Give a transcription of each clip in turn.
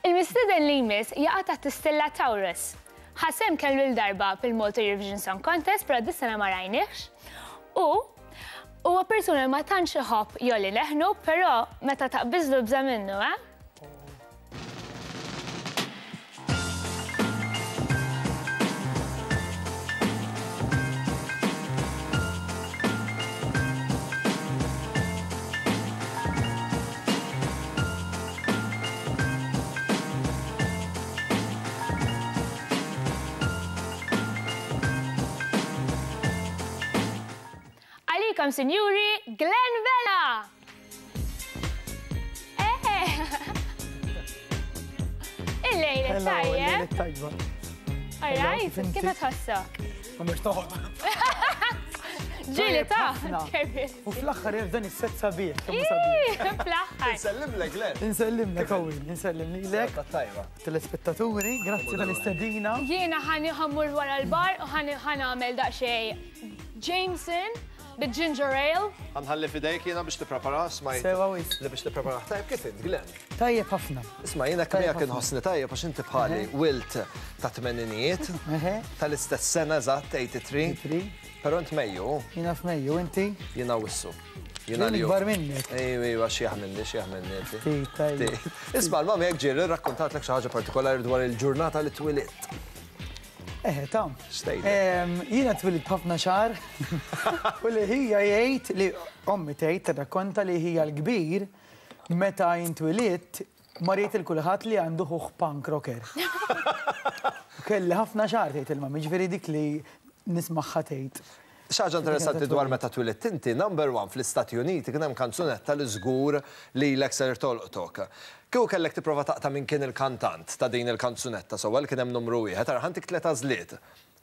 Il-mistieden li jmiss jaqa' taħt is-stilla Taurus. Ħa sehem kemm-il darba fil-Malta Eurovision Song Contest però dis-sena ma rajnihx. U huwa persuna li ma tantx iħobb jgħolli leħnu però meta taqbiżlu ibża' minnu, eh? Għalikom, sinjuri, Glenn Vella! Il-lejla tajjeb. Tajba. All right, kif tħossok? Ma mhux toħod. Ġieli ta' U fl-aħħar dan is-set sabiħ. Kemm sabiħ. Fl-aħħar. Insellimlek, Glenn. Insellimlek, Owen, insellim lilek. Tajba. Telespettaturi, grazzi tal-istedina. Jiena ħani ħammur wara l-bar u ħani ħanamel daqsxejn Jameson bit-ginger ale. Ħa nħalli f'idejk jiena biex tipprepara, smajt. Sewa wisq. Li biex tipprepara. Tajjeb kif int, Glenn? Tajjeb ħafna. Isma' jiena kemm jekk inħossni tajjeb għax inti bħali wilt ta' tmeninijiet, tal-istess sena eżatt 83. 83. Però int Mejju. Jiena f'Mejju, inti? Jiena Awwissu. Jiena li. Ikbar minnek. Ejwa, ejwa, xieħ minni, xieħ minni inti. Ftit, tajjeb. Isma' l-mami jekk ġieli rrakkontatlek xi ħaġa partikolari dwar il-ġurnata li twilidt. Eħe, ta. X'tgħidlek? Jiena twilidt b'ħafna xagħar u li ħija jgħid li ommi tgħid tirrakkonta li ħija l-kbir meta jien twilidt mar jgħid lil kulħadd li għandu ħuh punk rocker. U kelli ħafna xagħar tgħid il-mami, jiġifieri dik li nismagħha tgħid. Xi ħaġa interessanti dwar meta twilidt inti, number one fl-Istati Uniti kien hemm kanzunetta li żgur lilek ser tolqtok. Kieku kellek tipprova taqta' min kien il-kantant ta' din il-kanzunetta sewwa li kien hemm numru wieħed, ara ħa ntik tliet għażliet.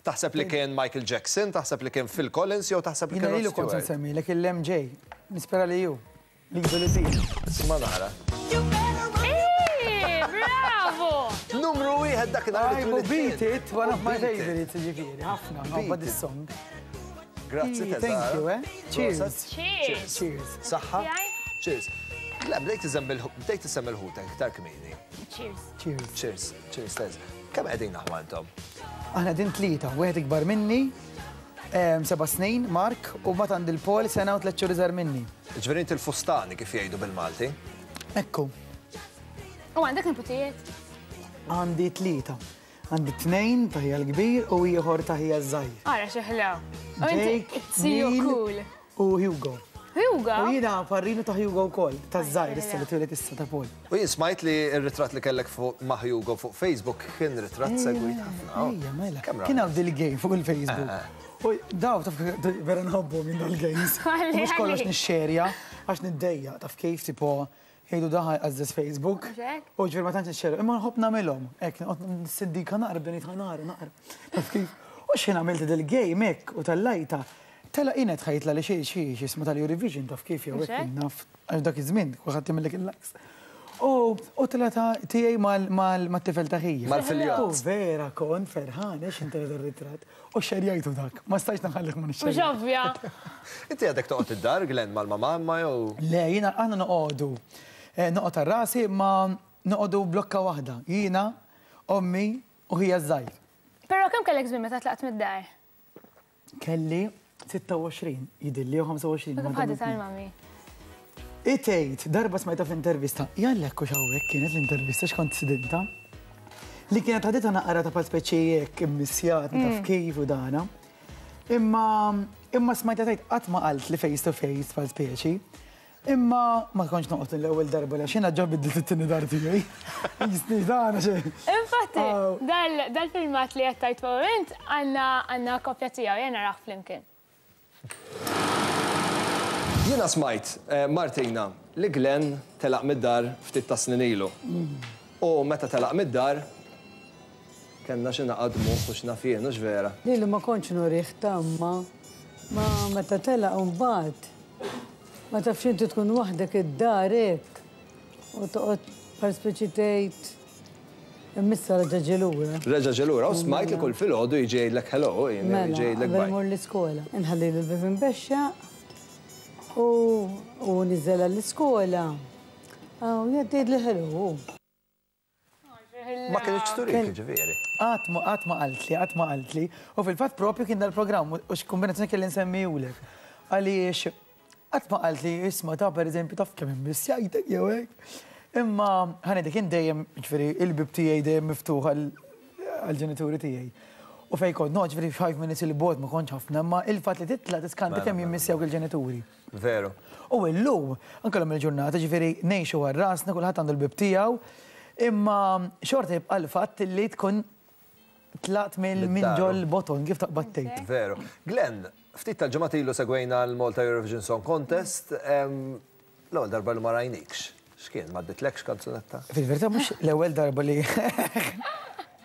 Taħseb li kien Michael Jackson, taħseb li kien Phil Collins jew taħseb li kien Jiena Rod lilu kont se Stewart? nsemmilek il-MJ. Nispera li hu. Lilu li bil. Isma' nara. Ii, bravo! Numru wieħed dakinhar li I will twilidt beat int. it, one of my U beat it. favorites, jiġifieri, ħafna, nħobbha Beat it. dis-song. Grazzi Thank Tesara. you, eh? Cheers. Proset. Cheers. Cheers. Saħħa. Tiegħi? Cheers. Le, bdejt iżemm il- bdejt isemmi l-ħutek iktar kmieni. Cheers. Cheers. Cheers, cheers, Tez. Kemm qegħdin aħwa intom? Aħna din tlieta, wieħed ikbar minni, seba' snin, Mark, u mbagħad għandi l-Paul sena u tliet xhur iżgħar minni. Ġifieri inti l-fustani kif jgħidu bil-Malti. Ekku. U għandek niputijiet? Għandi tlieta. Għandi tnejn ta' ħija l-kbir u ieħor ta' ħija ż-żgħir. Ara xi ħlew. U inti Jake, see you Neil cool. u Hugo. Hugo? U jiena parrinu ta' Hugo wkoll, ta' żgħir issa li twieled issa ta' Paul. U jien smajt li r-ritratt li kellek fuq ma' Hugo fuq Facebook kien ritratt segwit ħafna. Ejja, mela. Kemm Kien hawn dil-game fuq il-Facebook. U daw taf vera nħobbhom jien dal-games. Mhux kollox nixxerja għax niddejjaq taf kif tipo Jgħidu dan ħa jqażżeż Facebook. Mhux hekk? U ġifieri ma tantx nixxerja, imma nħobb nagħmilhom. Hekk noqgħod nissindika naqra bdejt ħa nara naqra. Taf kif? U x'ħin għamilt dil-game hekk u tellajtha, tela' jien qed ħa jitla' li xi xi x'ismu tal-Eurovision taf kif jew hekk jien naf għax dak iż-żmien kulħadd jagħmillek il-likes. U u tela' ta' tiegħi mal-tifel ta' ħija. Mal-filjott. U vera kont ferħan għax x'ħin tela' dar-ritratt. U xxerjajtu dak. Ma stajtx nħallih ma nixxerjajtux. Mhux ovvja. Inti għadek toqgħod id-dar, Glenn, mal-mamà imma jew? Le, jiena aħna noqogħdu. Noqgħod għal rasi imma noqogħdu blokka waħda. Jiena, ommi u ħija ż-żgħir. Però kemm kellek żmien meta tlaqt mid-dar? Kelli 26, jidhirli, jew 25. U kif ħaditha l-mami? Hi tgħid, darba smajtha f'intervista, jalla hekk hux hawnhekk kienet l-intervista x'kont sidintha, li kienet ħaditha naqra ta' bħal speċi hekk immissjat ma taf kif u dana. Imma imma smajtha tgħid qatt ma qalt li face to face bħal speċi. Imma ma kontx noqgħod l-ewwel darba għax jiena ġa biddilt it-tieni dar tiegħi. Jisni dana xi. Infatti, dal-filmat li qed tgħid fuq int għandna għandna kopja tiegħu, ejja narah flimkien. Jiena smajt, Martina, li Glenn telaq mid-dar ftit tas-snin ilu. U meta telaq mid-dar, kellna xi naqa' dmugħ u x'naf jien, hux vera? Lilu ma kontx nurih ta' imma ma meta telaq imbagħad, ma tafx inti tkun waħdek id-dar hekk u toqgħod bħal speċi tgħid Imma issa reġa' ġie lura. Reġa' ġie lura u smajt li kull filgħodu jiġi jgħidlek hello, jiġi jgħidlek bye. Mela, qabel imur l-iskola. Inħallilu l-bieb imbexxaq u hu niżel għall-iskola. U jgħid jgħidli hello hu. Ma kinitx turik, ġifieri. Qatt ma qatt ma qaltli, qatt ma qaltli. U fil-fatt propju kien dal-programm u x'kombinazzjoni kelli nsemmihulek. Għaliex qatt ma qaltli isma' ta' pereżempju taf kemm immissjajtek jew hekk. Imma ħa ngħidlek jien dejjem, ġifieri il-bieb tiegħi dejjem miftuħ għall-ġenituri tiegħi. U fejn kont noqgħod ġifieri five minutes 'il bogħod ma kontx ħafna, imma il-fatt li titla' tiskanta kemm jimmissjawk il-ġenituri. Veru. U illum, anke llum il-ġurnata, ġifieri ngħixu għal rasna, kulħadd għandu l-bieb tiegħu, imma xorta jibqa' l-fatt li tkun tlaqt minn ġol-boton, kif taqbad tgħid. Veru. Glenn, ftit tal-ġimgħat ilu segwejna l-Malta Eurovision Song Contest, l-ewwel darba li ma rajnikx. X'kien, m'għadditlekx kanzunetta? Fil-verità mhux l-ewwel darba li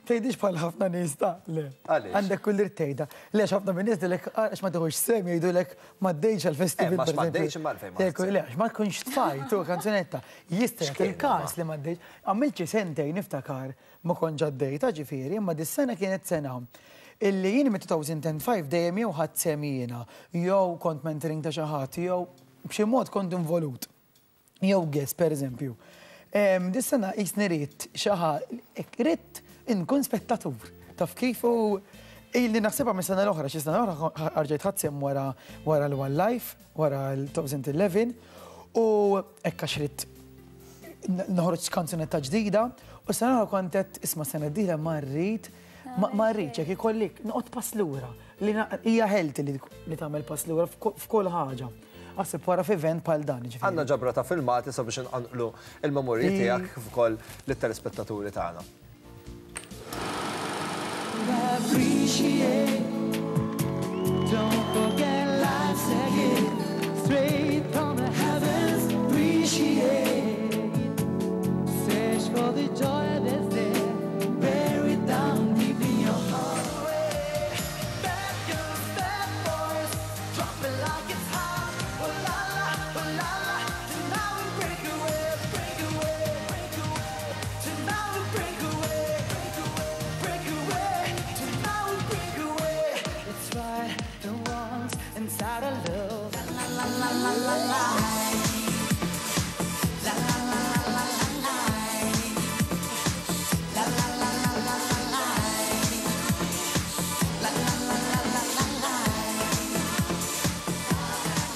Tgħidix bħal ħafna nies ta' le. Għaliex? Għandek kull dritt tgħidha. Le għax ħafna min-nies jgħidulek għax ma tieħux sehem jgħidulek m'għaddejtx għall-festival. Eh, ma m'għaddejtx imma għalfejn ma Le, għax ma tkunx tfajt u kanzunetta. Jista' jagħti il-każ li m'għaddejtx. Għamilt xi sentejn niftakar ma kontx għaddejtha ġifieri, imma dis-sena kienet sena illi jien mit-2005 dejjem jew ħadt sehem jiena, jew kont mentoring ta' xi ħadd, jew b'xi mod kont involut. Jew guest, per eżempju. Dis-sena qisni ridt xi hekk ridt inkun spettatur. Taf kif u ilni naħsibha mis-sena l-oħra, xi sena l-oħra rġajt ħadt sehem wara wara l-One Life, wara l-2011 u hekk għax ridt noħroġ kanzunetta ġdida u s-sena l-oħra kont għedt isma' s-sena d-dieħla ma rrid ma rridx jekk ikolli noqgħod pass lura. Li hija healthy li tagħmel pass lura f'kull ħaġa. Aħseb wara f'event bħal dan, jiġifieri. Għandna ġabra ta' filmati sabiex inqanqlu l-memorji tiegħek kif ukoll lit-telespettaturi tagħna.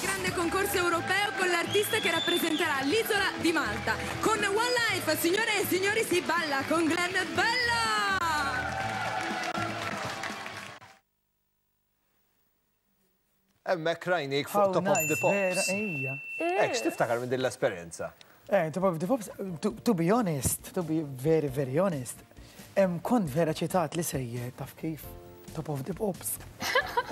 Grande concorso europeo con l'artista che rappresenterà l'isola di Malta. Con One Life, signore e signori, si balla con Glenn Bella! Hemmhekk rajnik fuq Top of the Pops. Hekk x'tiftakar minn din l-esperjenza? Eh, Top of the Pops, to be honest, to be very, very honest, kont vera ċitat li sejjer taf kif Top of the Pops.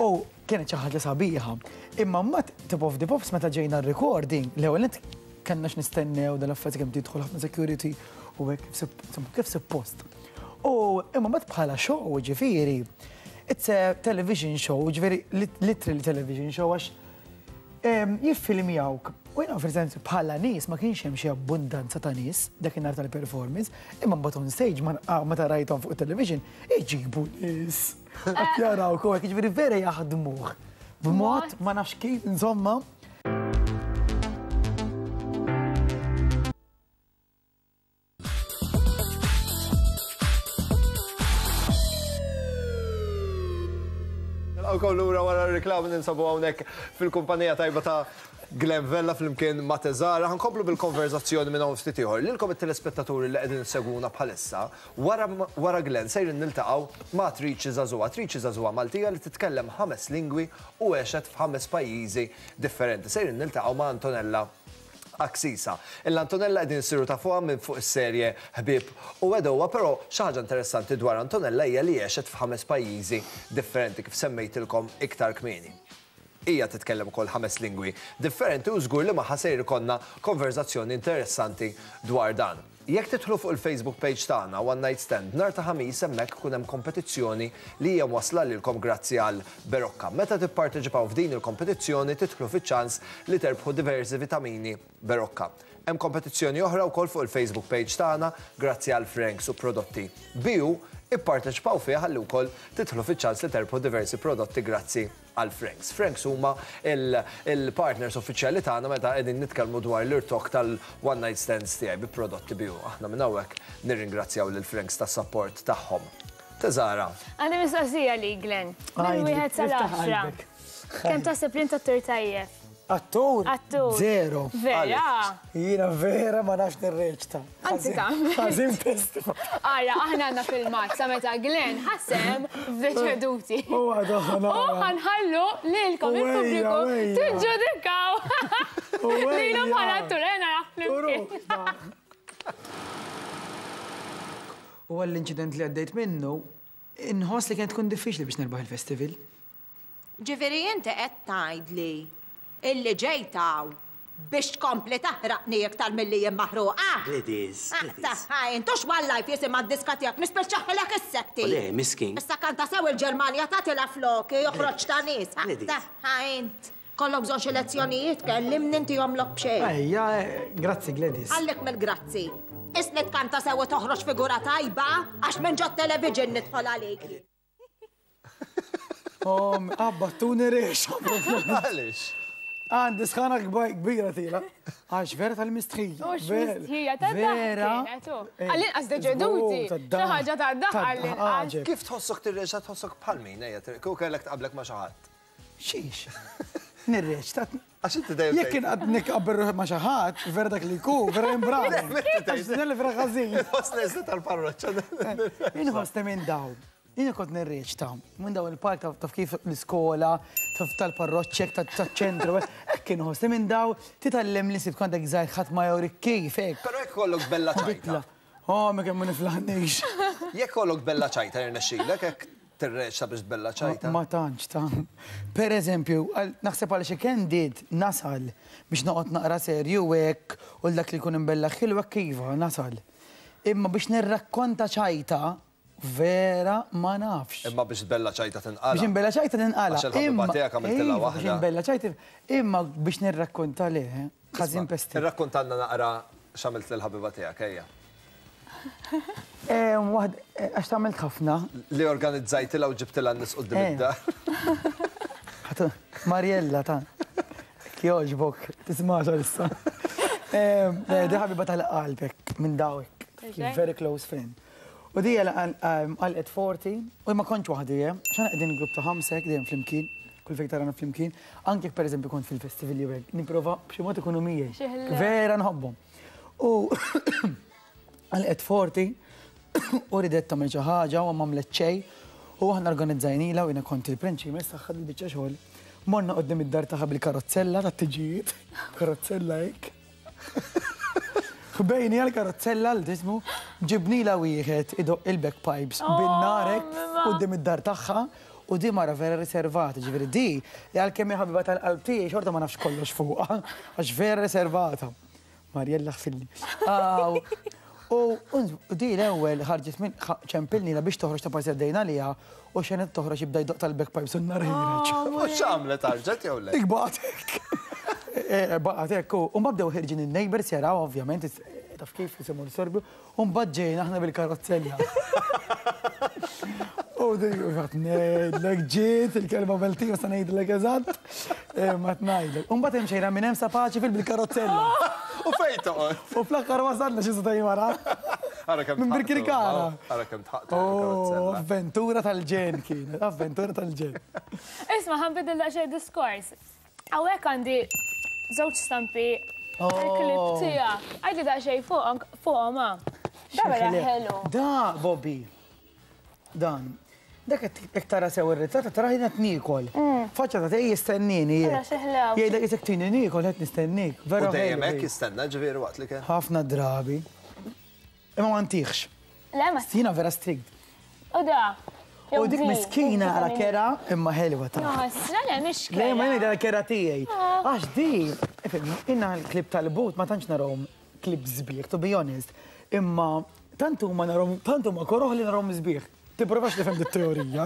U kienet xi ħaġa sabiħa. Imma mbagħad Top of the Pops meta ġejna r-recording, l-ewwel nett kellna x'nistennew dal-affarijiet kemm tidħol ħafna security u hekk kif suppost. U imma mbagħad bħala show ġifieri, it's a television show, ġifieri literally television show għax jiffilmjawk. U jiena fil-sens bħala nies ma kienx hemm xi abbundanza ta' nies dakinhar tal-performance, imma mbagħad on stage meta rajthom fuq it-television iġibu nies. Qed jarawk u hekk, jiġifieri vera jaħdmuh b'mod ma nafx kif, insomma. Nilqgħukom lura wara r-riklami ninsabu hawnhekk fil-kumpanija tajba ta' Glenn Vella flimkien ma' Teżara. Ħankomplu bil-konverzazzjoni minn hawn ftit ieħor. Lilkom it-telespettaturi li qegħdin issegwuna bħalissa, wara wara Glenn sejrin niltaqgħu ma' attriċi żagħżugħa, attriċi żagħżugħa Maltija li titkellem ħames lingwi u għexet f'ħames pajjiżi differenti. Sejrin niltaqgħu ma' Antonella Axisa. Il-Antonella qegħdin insiru tafuha minn fuq is-serje Ħbieb u Għedewwa, però xi ħaġa interessanti dwar Antonella hija li għexet f'ħames pajjiżi differenti kif semmejtilkom iktar kmieni. Hija titkellem ukoll ħames lingwi differenti u żgur li magħha sejr ikollna konverżazzjoni interessanti dwar dan. Jekk tidħlu fuq il-Facebook page tagħna One Night Stand nhar ta' Ħamis hemmhekk ikun hemm kompetizzjoni li hija mwassla lilkom grazzi għal Berocca. Meta tipparteċipaw f'din il-kompetizzjoni tidħlu fiċ-ċans li terbħu diversi vitamini Berocca. Hemm kompetizzjoni oħra wkoll fuq il-Facebook page tagħna grazzi għal Frank's u prodotti BU. Ipparteċipaw fiha ħalli wkoll tidħlu fiċ-ċans li terbħu diversi prodotti grazzi għal Franks. Franks huma l-partners uffiċjali tagħna meta qegħdin nitkellmu dwar l-irtokk tal-one night stands tiegħi bi prodotti BU. Aħna minn hawnhekk nirringrazzjaw lil Franks tas-sapport tagħhom. Teżara. Għandi mistoqsija li Glenn. Minn wieħed sal-għaxra. Kemm taħseb li int attur tajjeb? Attur? Attur. Zero. Vera? Jiena vera ma nafx nirreċta. Anzi ta' Ħażin festival. Ara, aħna għandna filmat sa meta Glenn ħassem f'deċeduti. U għadu U ħanħallu lilkom il-pubbliku tiġġudikaw. Lilhom bħala attur, eh, naraħ flimkien. U għall-inċident li għaddejt minnu, inħoss li kienet tkun diffiċli biex nirbaħ il-festival. Ġifieri inti qed tgħidli illi ġejt hawn biex tkompli taħraqni iktar milli jien maħruqa? Gladys, Gladys. Aqta' int hux One Life jisimha d-diska tiegħek, nispiċċaħilek is-sekti. Le, miskin. Issa kanta sew il-Ġermanja tagħtilha floki, joħroġ ta' nies. Gladys. Aqta' int. Kollok bżonn xi lezzjonijiet, kellimni ntihomlok b'xejn. Ejja, grazzi Gladys. Ħallik mill-grazzi. Isni tkanta sew u toħroġ figura tajba għax minn ġot-television nidħol għalik. Om, abbattuni rex. Għalix? Għandi sħana kbira tila. Għax vera tal-mistħija. Mux mistħija, ta' Vera. Għall-inqas deġeduti. Xi ħaġa ta' daħ għall-inqas. Kif tħossok tirreġa tħossok bħal min, ejja, kieku kellek tqablek ma' xi ħadd. Xiex? Nirreċ, Għax inti dejjem. Jekk inqgħad nikqabbel ruħi ma' xi ħadd, vera dak li jkun, vera imbravi. Għax li vera ħażin. Inħoss neżli tal-parroċċa. Inħoss minn daw. Jiena kont nirreċta minn daw il-park taf kif l-iskola, taf tal-parroċċek, taċ-ċentru. Hekk inħoss minn daw titgħallem li nsib kont żgħir ħadd ma jurik kif hekk. Però jekk kollok bella ċajta. Oh, ma kemm ma niflaħniex. Jekk kollok bella ċajta jirnexxilek hekk Tirreċta biex tbella ċajta? Ma tantx ta. Per eżempju, naħseb għal xi candid nasal biex noqgħod naqra serju hekk u dak li jkun imbella ħilu hekk iva nasal. Imma biex nirrakkonta ċajta vera ma nafx. Imma biex tbella ċajta tinqala'. Biex inbella ċajta tinqala'. Għax il-ħabiba tiegħek għamiltilha waħda. Biex inbella ċajta imma biex nirrakkonta le, ħażin pesti. Irrakkontalna naqra x'għamilt lill-ħabiba tiegħek, ejja. Waħd, għax tagħmel ħafna. Li organizzajtilha u ġibtilha n-nies quddiem id-dar. Mariella ta' kjoġbok, tismax issa. Di ħabiba tal-qalbek minn dawek. Very close friend. U di għalqet 40, u ma kontx waħdi, xan qegħdin grupp ta' ħamsek, dejjem flimkien, kull fejn tarana flimkien, anke per eżempju kont fil-festival jew hekk, nipprova b'xi mod ikunu miegħi. Vera nħobbhom. U għalqet forti u ridet tagħmel xi ħaġa u m'għamlet xejn u aħna organizzajnilha u jiena kont il-prinċi mess tagħha dil-biċċa xogħol. Morna quddiem id-dar tagħha bil-karozzella tat-tiġijiet, karozzella hekk. Ħbejni għal-karozzella l tismu, ġibnila wieħed idoq il-bagpipes oh, bin-nar hekk quddiem id-dar tagħha u di mara vera riservata, ġifieri di li għalkemm hi ħabiba tal-qalb tiegħi xorta ma nafx kollox fuqha, għax vera riservata. Mariella ħfilli. U di l-ewwel ħarġet minn ċempilni la biex toħroġ ta' parti għaddejna liha u xenet toħroġ jibda jdoq tal-bagpipes u n-nar ħireġ. U x'għamlet ħarġet jew le? Dik baqgħet hekk. Baqgħet hekk u mbagħad bdew ħirġin in-neighbours jaraw ovvjament taf kif jisimgħu l-sorbju U mbagħad ġejna aħna bil-karozzella. U dik għat ngħidlek ġiet il-kelma Maltija sa ngħidlek eżatt. Eh, ma tngħidlek. U mbagħad hemm xejra minn hemm sa paċi fil bil-karozzella. U fejn toqgħod? U fl-aħħar wasalna xi seta' wara. Ara kemm Minn Birkirkara. Ara kemm tħaqtu bil-karozzella. Avventura tal-ġen kienet, avventura tal-ġen. Isma' ħanbidel daqsxejn diskors. Hawnhekk għandi żewġ stampi tal-klip oh. tiegħek. Għajdi daqsxejn fuqhom fuqhom ah. Da vera ħelu. Da, Bobby. Dan. Dak qed tara sew ir-ritratt tara ħin qed niekol. Mm. Faċċa ta' tej jistennini. Jgħidlek isek tini niekol qed nistennik. Vera dejjem hekk jistenna ġifieri waqt li kien. Ħafna drabi. Imma ma ntihx. Le ma. Jiena vera strict. U da. U dik miskina għala kera imma ħelwa ta'. Le le mhix kera. Le ma jien kera tiegħi. Ah. Għax di, inna l-klib tal-but ma tantx narahom klib sbieħ, to be honest. Imma tant huma narahom, tant huma koroħ li narahom sbieħ. Tipprovax tifhem dit-teorija.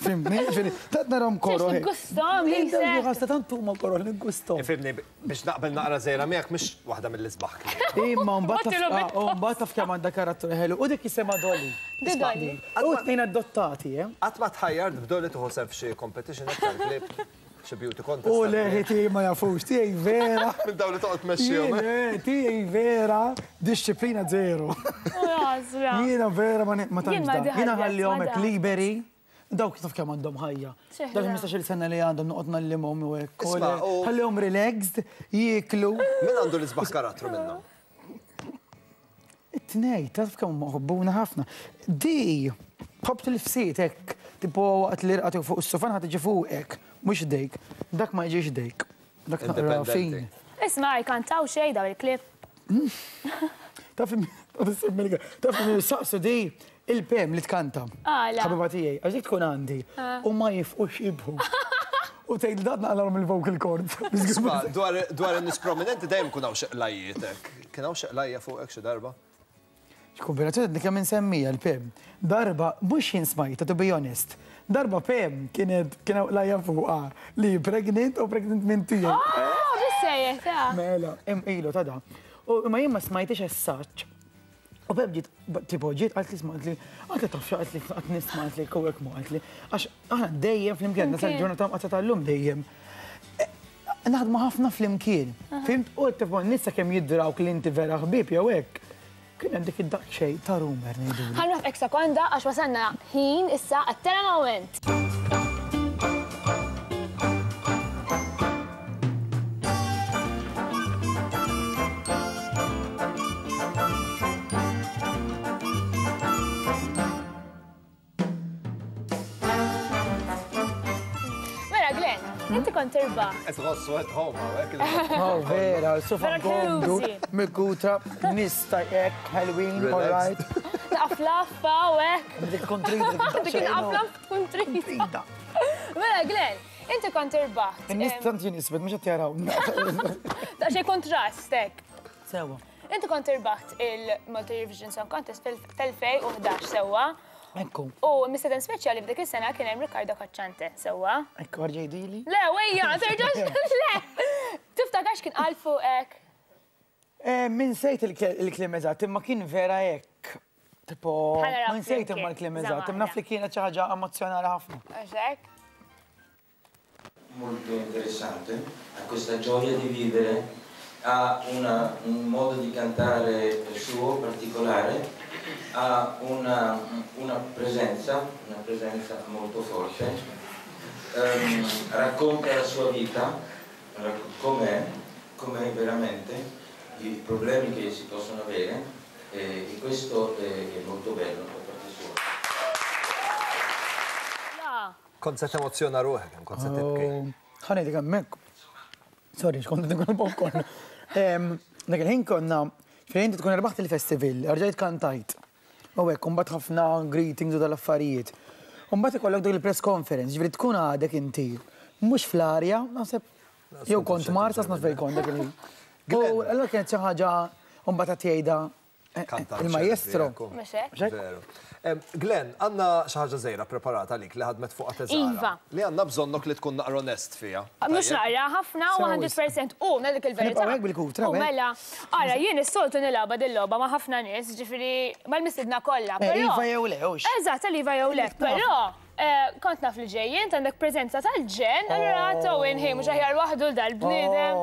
Fhimtni? Ġifieri, tant narahom koroh. Tiggusthom, Lisa. Ħassa tant huma koroh li ggusthom. Ifhimni, biex naqbel naqra żgħira miegħek mhix waħda mill-isbaħ klieb. Imma mbagħad taf kemm għandha karattru ħelu u dik jisimha Dolly. Dolly. U tnejn adottati, eh? Qatt ma tħajjart b'Dolly tieħu sehem f'xi competition hekk tal-klieb? Xi beauty contest? U le, tiegħi ma jafux, tiegħi vera. Minn dawn li toqgħod tmexxihom. Eh? Tiegħi vera, disċiplina zero. Jiena vera ma tantx. Jiena ħallihom hekk liberi. Dawk taf kemm għandhom ħajja. Dak 15-il sena li għandhom noqgħod nallimhom u hekk. Ħallihom relaxed, jieklu. Min għandu l-isbaħ karattru minnhom? It-tnej, taf kemm huma ħobbuna ħafna. Di, tħobb tilfsiet hekk, tipo waqt li rqad fuq is-sufan ħa tiġi fuqek, mhux ħdejk. Dak ma jiġix ħdejk. Dak naqra fin. Isma' jkantaw xejn dawn il-klieb? Taf taf saqsu di il-pem li tkanta. Għala. Ħabiba tiegħi, għax dik tkun għandi u ma jifqux jibħu. U tgħid li dat naqlalhom il-vocal cords. Isma' dwar in-nies prominenti dejjem ikun hawn xi qlajjiet hekk. Kien hawn xi qlajja fuqek xi darba? X'kombinazzjoni għadni kemm insemmija l-Pem. Darba, mhux jien smajtha to be honest. Darba Pem kienet kien hawn qlajja fuqha li hi pregnant u pregnant minn tiegħi. Oh, bis-serjetà? Mela, ilu ta' da. U imma jien ma smajtix as such. U Pem ġiet, tipo ġiet qaltli isma' qaltli, qaltli taf xi qaltli qatt nisma' qaltli hekk u hekk mhu qaltli. Għax aħna dejjem flimkien, nasal ġurnata mqatta' tal-lum dejjem. Naħdmu ħafna flimkien. Fimt? U tipo n-nies sakemm jidrawk li inti vera ħbieb jew hekk, kien hemm dik id-daqsxejn ta' rumor ngħidulu. Ħa nwaqqfek sekonda għax wasalna ħin issa għat-telemoment. Mela, Glenn, inti kont irbaħ. Qed tħossu at home hawnhekk. Oh, vera, sofa komdu, mikuta, nista hekk, Halloween, all right. Naqflaffa u hekk. Dik tkun trida. Dik naqflaf tkun trida. Mela, Glenn, inti kont irbaħ. In-nies tant jien isbed mhux qed jaraw. Daqsxejn kontrast hekk. Sewa. Inti kont irbaħt il-Malta Eurovision Song Contest fil-2011 sewwa. Ekku. U mistieden speċjali f'dik is-sena kien hemm Riccardo Cocciante, sewwa? Ekku, erġa' jgħidili. Le, wejja, terġax, le! Tiftakar x'kien qal fuqek? Eh, min sejt il-kliem eżatt, imma kien vera hekk. Tipo, ma nsejt imma l-kliem eżatt, imma naf li kienet xi ħaġa emozzjonali ħafna. Għax hekk? Molto interessante, ha questa gioia di vivere, ha una, un modo di cantare suo particolare, ha una, una presenza, una presenza molto forte, um, racconta la sua vita, com'è, com'è veramente, i problemi che si possono avere e, e questo è, è molto bello da parte sua. Kont se temozzjona ruħek, hemm kont se tibki. Ħa ngħidlek hemmhekk. Sorry, x'kont qed nikol popcorn. Dak il-ħin konna fejn inti tkun erbaħt il-festival, rġajt kantajt. U hekk, u mbagħad ħafna greetings u dal-affarijiet. U mbagħad ikollok dik il-press conference, ġifieri tkun għadek inti mhux fl-arja, naħseb jew kont Mars, naf fejn kont dak il-ħin. U allura kienet xi ħaġa u mbagħad qed jgħidha Il-majestro. Veru. Glenn, għandna xi ħaġa żgħira preparata għalik li ħadmet fuqha teżara. Iva. Li għandna bżonnok li tkun naqra onest fiha. Mhux naqra, ħafna u 100% u ngħidlek il-verità. Nibqgħu hekk bil-kutra. U mela, ara jien is-soltu nilgħabha dil-logħba ma' ħafna nies, ġifieri mal-mistiedna kollha. Iva jew le, hux. Eżatt, tal-iva jew le, però kont naf li ġej int għandek preżenza tal-ġenn, allura Owen ħi mhux aħjar waħdu l dal-bniedem.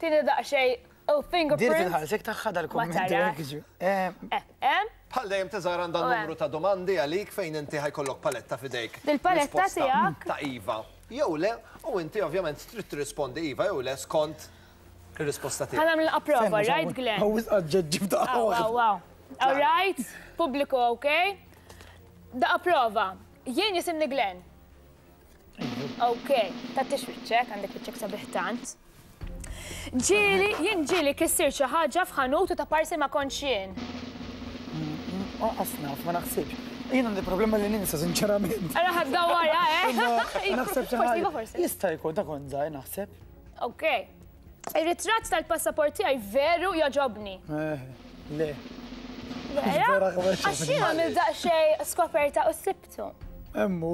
Tieni daqsxejn U fingerprint. Dirti nħarsek tagħha dal-kumment. Ma tarax. Eh. Eh, Bħal dejjem teżar għandha numru ta' domandi għalik fejn inti ħajkollok paletta f'idejk. Dil-paletta tiegħek. Ta' iva. Jew le, u inti ovvjament trid tirrispondi iva jew le skont ir-risposta tiegħek. Ħa nagħmel approva, right Glenn? Hawn wisq aġġeġġib ta' All right, pubbliku okay. Da approva. Jien jisimni Glenn. Ok, tattix wiċċek, għandek wiċċek sabiħ tant. Ġieli, jien ġieli kissirt xi ħaġa f'ħanut u ta' parsi ma kontx jien. Anqas naf, ma naħsibx. Jien għandi problema li ninsa, sinċerament. Ara ħadd dawwarha, eh? Naħseb xi Forsi iva, ħaġa. forsi. Jista' jkun ta' kont żgħir naħseb. Ok. Ir-ritratt tal-passaport tiegħi veru jogħġobni. Eh, le. Vera? Vera, Għax jien għamilt daqsxejn skoperta u sibtu. Hemm hu.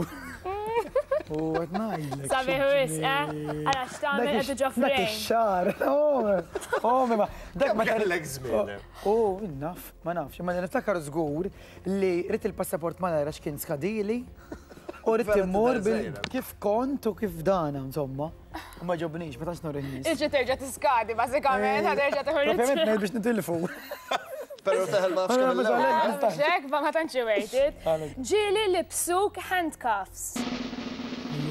U qed ngħidlek. Sabiħ wisq, eh? Ara x'tagħmel qed ġo Dak frame. ix-xagħar. Oh, oh, ma dak ma Kellek żmien. Oh, naf, ma nafx, imma niftakar żgur li ridt il-passaport ma nara x'kien skadili. U ridt Vera immur tidher bil żgħira. kif kont u kif dana, insomma. U ma ġobnix, ma tantx nuri n-nies. Iġi terġa' tiskadi, bażikament, ħa terġa' tieħu Propjament ngħid biex nitilfu. Però teħel ma nafx kemm il-ewwel. Xek, ma ma tantx worth it. Ġieli libsuk handcuffs.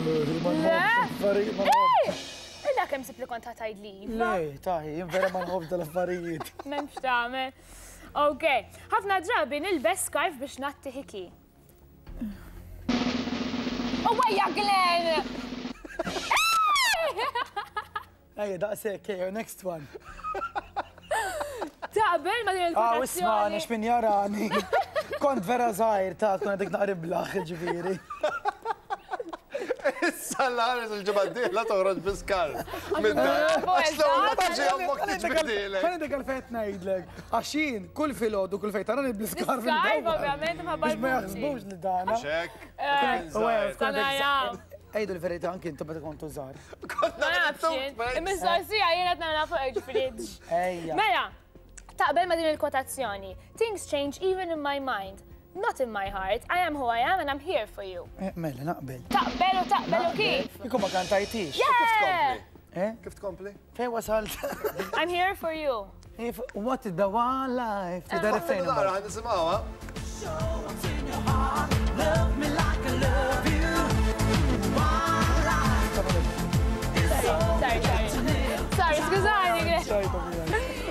Le? Illa kemm sib li kont tgħid li iva. Le, taħi, jien vera ma nħobb dal-affarijiet. M'hemmx tagħmel. Ok, ħafna drabi nilbes scarf biex ngħatti ħiki. Oh, wajja, Glenn! Ejja, daqshekk, ejja, next one. Taqbel ma din Ah, isma' il-kwotazzjoni. x'min jarani. Kont vera żgħir ta' tkun għadek naqriblaħ, ġifieri. Issa l-ħares il-ġimgħa d-dieħla toħroġ bi scarf. Mid-dar. Għax l-ewwel ma tiġi ommok tiġbidilek. Ħa ngħidlek għalfejn qed ngħidlek. Għax jien kull filgħodu kull fejn tarani bl-iskarf. L-iskarf, ovvjament, imħabba Biex ma l-vuċi. jaħsbux li dana. Mhux hekk? Naraw. Ejdu l-verità anki intom meta kontu żgħar. Ma nafx jien. Il-mistoqsija jien qed nagħmilha fuq ġifieri. Ejja. Mela, taqbel ma din il-kwotazzjoni. Things change even in my mind, not in my heart. I am who I am and I'm here for you. Eh, Mela, naqbel. Taqbel u taqbel u kif? Ikum ma kantajtix. Yeah! Eh? Kif tkompli? Fejn wasalt? I'm here for you. If what is the one life? Tidher refrain Nara, ħa nisimgħuha. Love me like I love you. One life. Sorry, sorry. Sorry, skużani.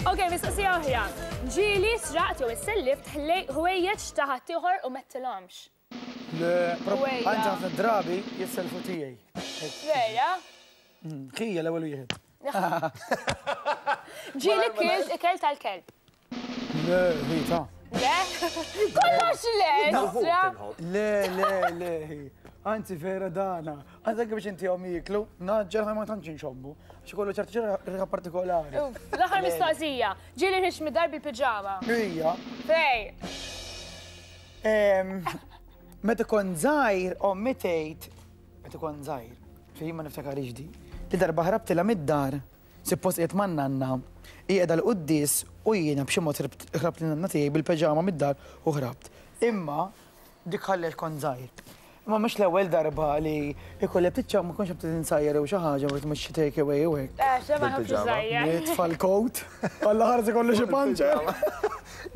Ok, mistoqsija oħra. Ġieli sraqt jew issellift ħwejjeġ ta' ħaddieħor u m'għedtilhomx. Le, Ejja. Għandi ħafna drabi jisselfu tiegħi. Vera? Ħija l-ewwel wieħed. Ġieli kilt ikel tal-kelb. Le, Rita. Le? Kollox le! Sra. Le, le, le. Anzi, vera dana. Għanzi anke biex inti għom jiklu, naġġel ħaj ma tantx nxommu. Għax ikollu ċertu ċerta partikolari. Uff, L-aħħar mistoqsija. Ġieli ħriġt mid-dar bil-piġama. Ija. Fej. Meta kont żgħir, ommi tgħid, meta kont żgħir, fejn ma niftakarix di, li darba ħrabtilha mid-dar, suppost qiegħed man-nanna, hi qiegħda l-quddies u jiena b'xi mod ħrabt lin-nanna tiegħi bil-piġama mid-dar u ħrabt. Imma dik ħallet kont żgħir. Imma mhux l-ewwel darba li ikolli ftit ma kontx qed insajjar jew xi ħaġa u mhux xi take away u hekk. Eh, xe ma nħobbx Bil-piġama. żgħir. Nitfa' l-coat, Alla ħares ikollu xi panċer.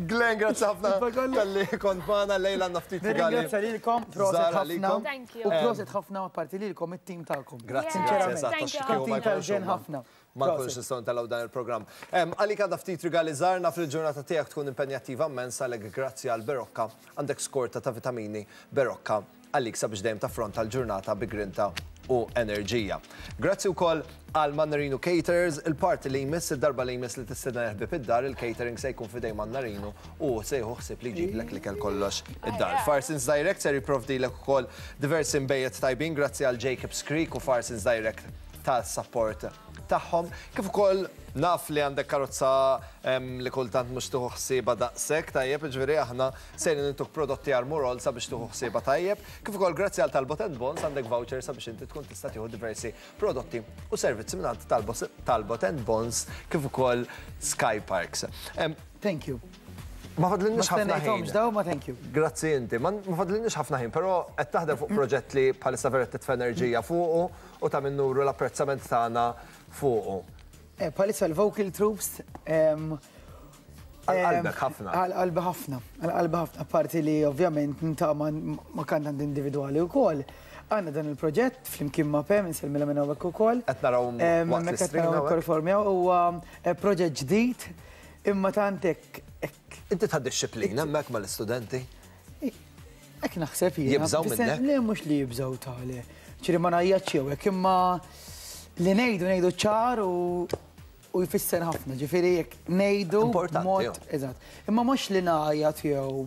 Glenn, grazzi ħafna talli kont magħna lejla għandna ftit rigali. Nirringrazzja lilkom, proset Żgħar ħafna. għalikom. Thank you. U proset ħafna apparti lilkom it-tim tagħkom. Grazzi, Yeah. grazzi, eżatt, Thank għax you kieku ma Tim jkunx tal-ġen huma. ħafna. Ma nkunx Proset. nistgħu ntellgħu dan il-programm. Għalik għandha ftit rigali żgħar naf li l-ġurnata tiegħek tkun impenjattiva immens għalhekk grazzi għal Berocca għandek skorta ta' vitamini Berocca għalik sabiex dejjem taffronta l-ġurnata bi grinta u enerġija. Grazzi wkoll għal Mannarino Caterers, il-party li jmiss, id-darba li jmiss li tistenna ħbieb id-dar, il-catering se jkun f'idejn Mannarino u se jieħu ħsieb li jġiblek l-ikel kollox id-dar. Farsons Direct ser jipprovdilek ukoll diversi nbejjed tajbin grazzi għal Jacobs Creek u Farsons Direct tas-support tagħhom. Kif ukoll naf li għandek karozza li kultant mhux tieħu ħsieba daqshekk tajjeb, jiġifieri aħna sejrin intuk prodotti Armorol sabiex tieħu ħsieba tajjeb. Kif ukoll grazzi għal Talbot and Bonds għandek voucher sabiex inti tkun tista' tieħu diversi prodotti u servizzi mingħand Talbot and Bonds kif ukoll Sky Parks. Thank you. Ma fadlinniex Ma ħafna ħin. stennejthomx daw, ma thank you. Grazzi inti. Ma fadlinniex ħafna ħin, però qed taħdem fuq proġett li bħalissa vera titfa' enerġija fuqu u ta' min nuru l-apprezzament tagħna fuqu. Bħalissa l-vocal troops Għal qalbek ħafna. Għal qalbi ħafna, għal qalbi ħafna, apparti li ovvjament niltaqa' ma' kantant individwali wkoll. Għandna dan il-proġett flimkien ma' Pem, insellmilha minn hawnhekk ukoll. Qed naraw waqt Hemmhekk qed l-stream naraw hawnhekk. performjaw huwa proġett ġdid imma tant hekk hekk Inti ta' disċiplina hemmhekk mal-istudenti? Hekk naħseb jiena. Jibżgħu minnek? Le mhux li jibżgħu tali. Ċiri ma ngħajjatx jew hekk imma li ngħidu ngħidu ċar u jfisser ħafna. Ġifieri jekk ngħidu Importanti, mod jo. eżatt. Imma mhux li ngħajjat jew